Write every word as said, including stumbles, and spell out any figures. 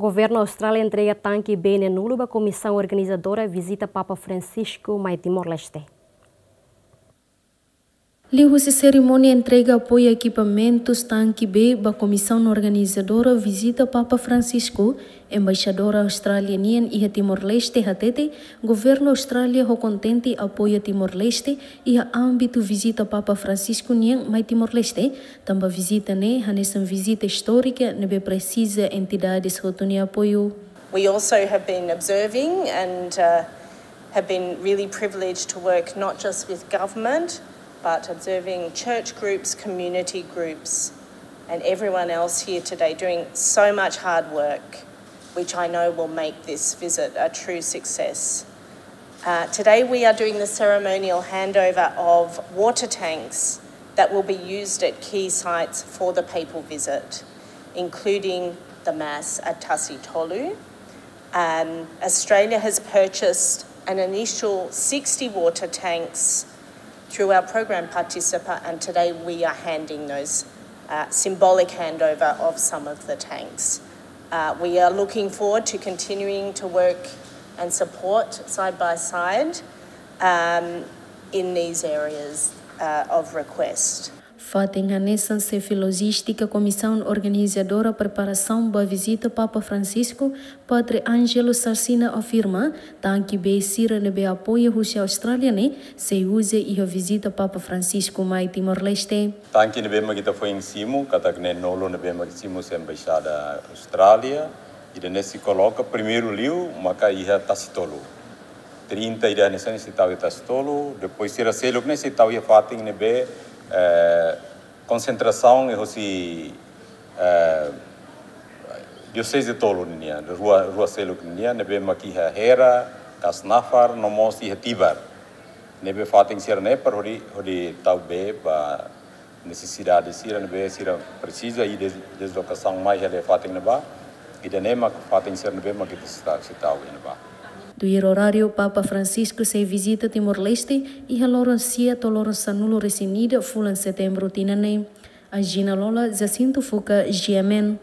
Governu Austrália entrega tanke bee neen-nulu ba komisaun organizadora vizita Papa Francisco mai Timor-Leste. Liuhusi serimónia entrega apoiu ekipamentus tanke bee ba komisaun organizadora vizita Papa Francisco, embaixadora Austrália nian iha Timor-Leste hatete, governu Austrália ho kontente apoia Timor-Leste iha ámbitu vizita Papa Francisco nian mai Timor-Leste, tanba vizita ne'e hanesan vizita istórika ne'ebé presiza entidades hotu nia apoiu. We also have been observing and, uh, have been really privileged to work not just with government, but observing church groups, community groups, and everyone else here today doing so much hard work, which I know will make this visit a true success. Uh, today we are doing the ceremonial handover of water tanks that will be used at key sites for the papal visit, including the Mass at Tasitolu. Um, Australia has purchased an initial sixty water tanks through our program Participa, and today we are handing those, uh, symbolic handover of some of the tanks. Uh, we are looking forward to continuing to work and support side by side, um, in these areas, uh, of request. Fatin hanesan xefe lojístika komisaun organizadora preparasaun ba vizita Papa Francisco, Padre Angelo Sarcina afirma, tanke bee sira ne'ebé apoia husi Austrália ne'e sei uza iha vizita Papa Francisco mai Timor-Leste. Tanke ne'ebé mak ita foin simu, katak neen-nulu ne'ebé mak simu husi embaixada Austrália, ida-ne'e sei koloka primeiru liu maka iha Tasitolu. Trinta ida hanesan ne'e sei tau iha Tasitolu, depois sira seluk ne'e sei tau iha fatin ne'ebé, eh, konsentrasaun iha husi, eh, dioseze tolu ninian, rua, rua seluk ninian, ne'ebé mak iha Hera, Kasnafar, no mós iha Tibar. Ne'ebé fatin sira-ne'e para hodi, hodi tau bee ba nesesidade sira ne'ebé sira presiza i des-, deslokasaun mai hela fatin ne'ebá. Ida-ne'e mak fatin sira ne'ebé mak ita sei tau, sei tau iha ne'ebá. Tuir oráriu, Papa Francisco sei vizita Timor-Leste iha loron sia to'o loron sanulu-resin-ida fulan Setembru tinan ne'e. Agina Lola, Jacinto Fuca, G M N.